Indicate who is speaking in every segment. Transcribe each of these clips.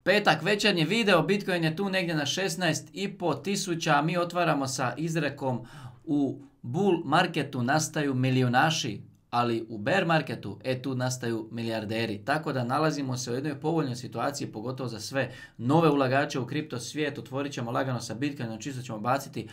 Speaker 1: Petak, večernji video, Bitcoin je tu negdje na 16,5 tisuća, a mi otvaramo sa izrekom u bull marketu nastaju milijunaši, ali u bear marketu tu nastaju milijarderi. Tako da nalazimo se u jednoj povoljnoj situaciji, pogotovo za sve nove ulagače u kripto svijet. Otvorit ćemo lagano sa Bitcoinom, čisto ćemo baciti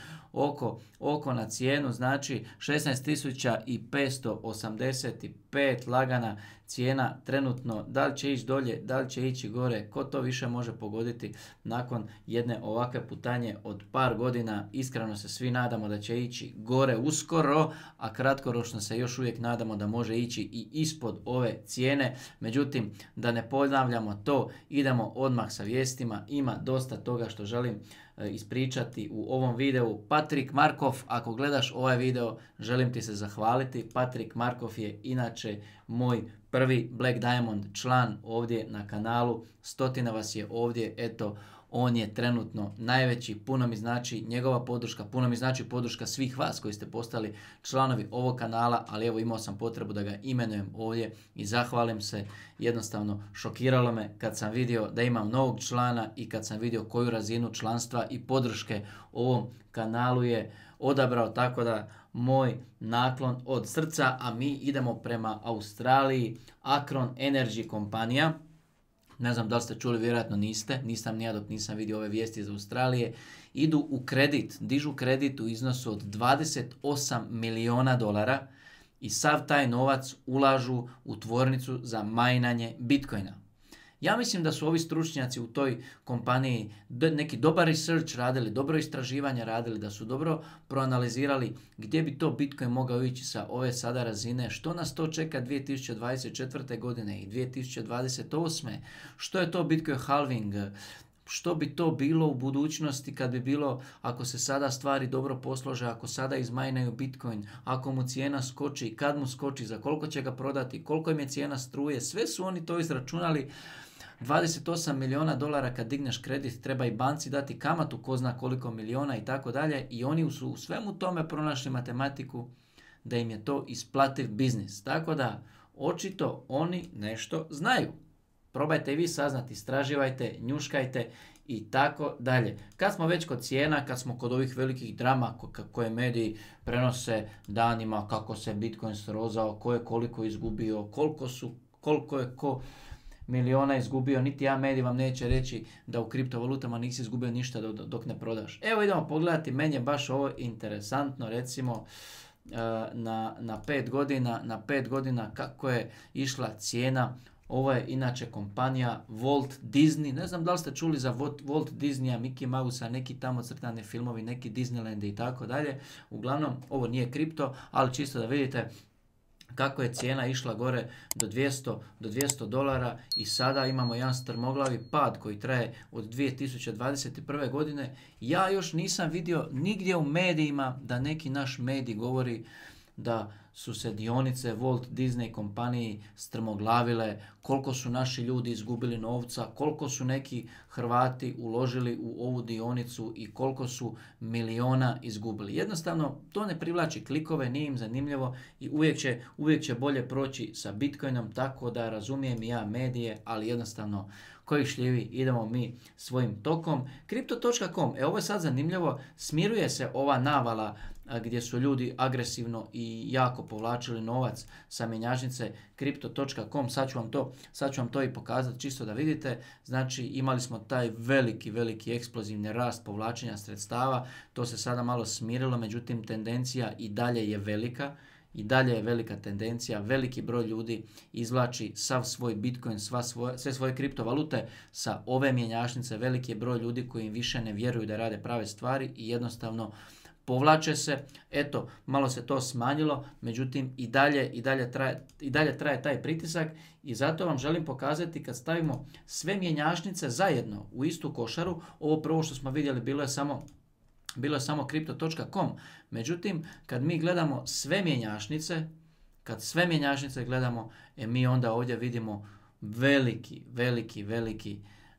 Speaker 1: oko na cijenu, znači 16.585 lagana cijena trenutno. Da li će ići dolje, da li će ići gore, ko to više može pogoditi nakon jedne ovakve putanje od par godina. Iskreno se svi nadamo da će ići gore uskoro, a kratkoročno se još uvijek nadamo da može ići i ispod ove cijene. Međutim, da ne ponavljamo to, idemo odmah sa vijestima. Ima dosta toga što želim ispričati u ovom videu. Patrik Markov, ako gledaš ovaj video, želim ti se zahvaliti. Patrik Markov je inače moj prvi Black Diamond član ovdje na kanalu. 100 vas je ovdje, eto, on je trenutno najveći, puno mi znači njegova podrška, puno mi znači podrška svih vas koji ste postali članovi ovog kanala, ali evo imao sam potrebu da ga imenujem ovdje i zahvalim se. Jednostavno šokiralo me kad sam vidio da imam novog člana i kad sam vidio koju razinu članstva i podrške ovom kanalu je odabrao, tako da moj naklon od srca, a mi idemo prema Australiji. Akron Energy kompanija. Ne znam da li ste čuli, vjerojatno niste, nisam ni ja dok nisam vidio ove vijesti iz Australije. Idu u kredit, dižu kredit u iznosu od 28 milijuna dolara i sav taj novac ulažu u tvornicu za majnanje Bitcoina. Ja mislim da su ovi stručnjaci u toj kompaniji neki dobar research radili, dobro istraživanje radili, da su dobro proanalizirali gdje bi to Bitcoin mogao ići sa ove sada razine, što nas to čeka 2024. godine i 2028. Što je to Bitcoin halving, što bi to bilo u budućnosti kad bi bilo, ako se sada stvari dobro poslože, ako sada izmajnaju Bitcoin, ako mu cijena skoči, kad mu skoči, za koliko će ga prodati, koliko im je cijena struje, sve su oni to izračunali. 28 milijuna dolara kad digneš kredit, treba i banci dati kamatu ko zna koliko milijuna i tako dalje, i oni su u svemu tome pronašli matematiku da im je to isplativ biznis. Tako da očito oni nešto znaju. Probajte i vi saznati, istraživajte, njuškajte i tako dalje. Kad smo već kod cijena, kad smo kod ovih velikih drama koje mediji prenose danima, kako se Bitcoin srozao, ko je koliko izgubio, koliko je ko miliona izgubio, niti ja medij vam neće reći da u kriptovalutama nisi izgubio ništa dok ne prodaš. Evo idemo pogledati, meni je baš ovo interesantno, recimo na 5 godina kako je išla cijena. Ovo je inače kompanija Walt Disney. Ne znam da li ste čuli za Walt Disneya, Mickey Mousea, neki tamo crtani filmovi, neki Disneyland i tako dalje. Uglavnom, ovo nije kripto, ali čisto da vidite kako je cijena išla gore do 200 dolara i sada imamo jedan strmoglavi pad koji traje od 2021. godine. Ja još nisam vidio nigdje u medijima da neki naš medij govori da su se dionice Walt Disney kompaniji strmoglavile, koliko su naši ljudi izgubili novca, koliko su neki Hrvati uložili u ovu dionicu i koliko su miliona izgubili. Jednostavno, to ne privlači klikove, nije im zanimljivo i uvijek će bolje proći sa Bitcoinom, tako da razumijem i ja medije, ali jednostavno koji šljivi, idemo mi svojim tokom. Crypto.com, ovo je sad zanimljivo, smiruje se ova navala gdje su ljudi agresivno i jako povlačili novac sa mjenjačnice Crypto.com. Sad ću vam to i pokazati čisto da vidite. Znači imali smo taj veliki eksplozivni rast povlačenja sredstava. To se sada malo smirilo, međutim tendencija i dalje je velika. I dalje je velika tendencija, veliki broj ljudi izvlači sav svoj Bitcoin, sve svoje kriptovalute sa ove mjenjačnice. Veliki je broj ljudi koji im više ne vjeruju da rade prave stvari i jednostavno povlače se. Eto, malo se to smanjilo, međutim i dalje traje taj pritisak i zato vam želim pokazati kad stavimo sve mjenjačnice zajedno u istu košaru. Ovo prvo što smo vidjeli bilo je samo Crypto.com. Međutim, kad mi gledamo sve mjenjačnice, gledamo, mi onda ovdje vidimo veliki,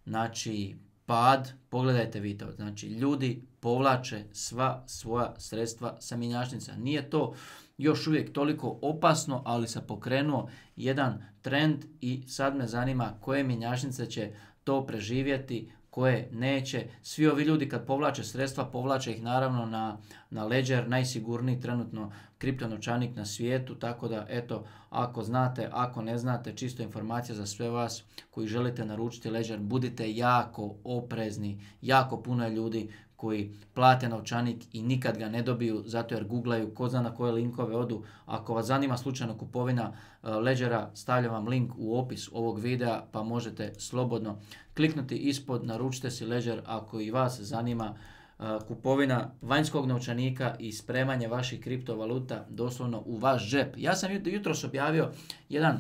Speaker 1: znači pad. Pogledajte vi to, znači ljudi povlače sva svoja sredstva sa mjenjačnica. Nije to još uvijek toliko opasno, ali se pokrenuo jedan trend i sad me zanima koje mjenjačnice će to preživjeti, koje neće. Svi ovi ljudi kad povlače sredstva, povlače ih naravno na Ledger, najsigurniji trenutno kriptonovčanik na svijetu, tako da eto, ako znate, ako ne znate, čisto informacija za sve vas koji želite naručiti Ledger, budite jako oprezni, jako puno je ljudi koji plate novčanik i nikad ga ne dobiju zato jer googlaju ko zna na koje linkove odu. Ako vas zanima slučajno kupovina Ledgera, stavljam vam link u opis ovog videa pa možete slobodno kliknuti ispod, naručite si Ledger ako i vas zanima kupovina vanjskog novčanika i spremanje vaših kriptovaluta doslovno u vaš džep. Ja sam jutros objavio jedan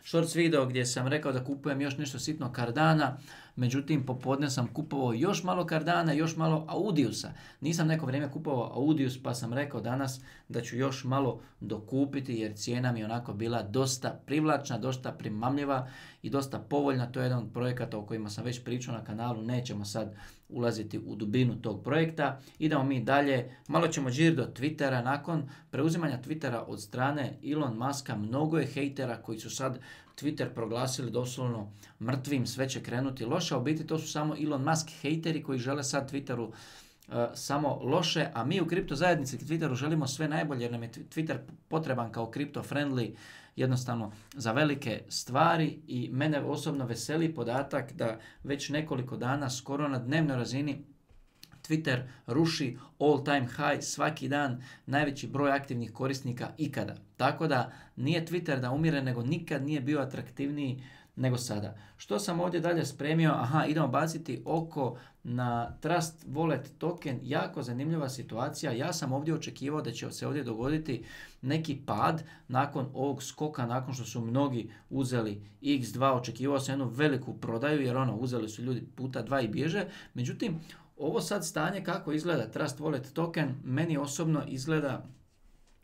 Speaker 1: shorts video gdje sam rekao da kupujem još nešto sitno Cardana, međutim popodne sam kupovao još malo Cardana, još malo Audiusa. Nisam neko vrijeme kupovao Audius pa sam rekao danas da ću još malo dokupiti jer cijena mi je onako bila dosta privlačna, dosta primamljiva i dosta povoljna. To je jedan od projekata o kojima sam već pričao na kanalu, nećemo sad ulaziti u dubinu tog projekta. Idemo mi dalje, malo ćemo džir do Twittera. Nakon preuzimanja Twittera od strane Elon Muska, mnogo je hejtera koji su sad Twitter proglasili doslovno mrtvim, sve će krenuti loše, a u biti to su samo Elon Musk hejteri koji žele sad Twitteru samo loše, a mi u kripto zajednici Twitteru želimo sve najbolje jer nam je Twitter potreban kao kripto friendly jednostavno za velike stvari i mene osobno veseli podatak da već nekoliko dana skoro na dnevnoj razini Twitter ruši all time high svaki dan, najveći broj aktivnih korisnika ikada. Tako da nije Twitter da umire, nego nikad nije bio atraktivniji nego sada. Što sam ovdje dalje spremio? Idemo baciti oko na Trust Wallet token. Jako zanimljiva situacija. Ja sam ovdje očekivao da će se ovdje dogoditi neki pad nakon ovog skoka, nakon što su mnogi uzeli X2. Očekivao sam jednu veliku prodaju jer uzeli su ljudi puta 2 i bježe. Međutim, ovo sad stanje kako izgleda Trust Wallet token, meni osobno izgleda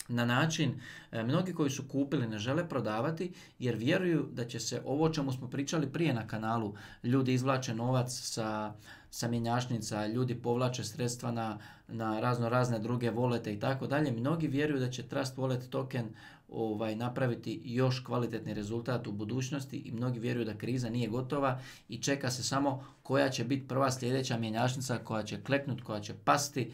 Speaker 1: na način, mnogi koji su kupili ne žele prodavati jer vjeruju da će se ovo o čemu smo pričali prije na kanalu, ljudi izvlače novac sa mjenjačnica, ljudi povlače sredstva na razne druge volete i tako dalje. Mnogi vjeruju da će Trust Wallet token napraviti još kvalitetni rezultat u budućnosti i mnogi vjeruju da kriza nije gotova i čeka se samo koja će biti prva sljedeća mjenjačnica koja će kleknuti, koja će pasti,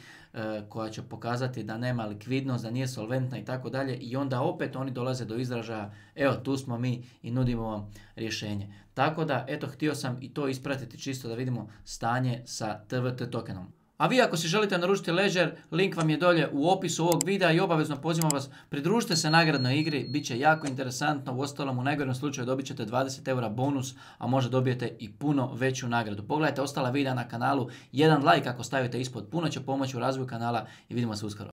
Speaker 1: koja će pokazati da nema likvidnost, da nije solventna i tako dalje i onda opet oni dolaze do izražaja, evo tu smo mi i nudimo vam rješenje. Tako da, eto, htio sam i to ispratiti čisto da vidimo stanje sa TVT tokenom. A vi ako si želite naručiti Ledger, link vam je dolje u opisu ovog videa i obavezno pozivam vas, pridružite se nagradnoj igri, bit će jako interesantno, uostalom u najgorem slučaju dobit ćete 20 eura bonus, a možda dobijete i puno veću nagradu. Pogledajte ostala videa na kanalu, jedan like ako stavite ispod, puno će pomoći u razvoju kanala i vidimo se uskoro.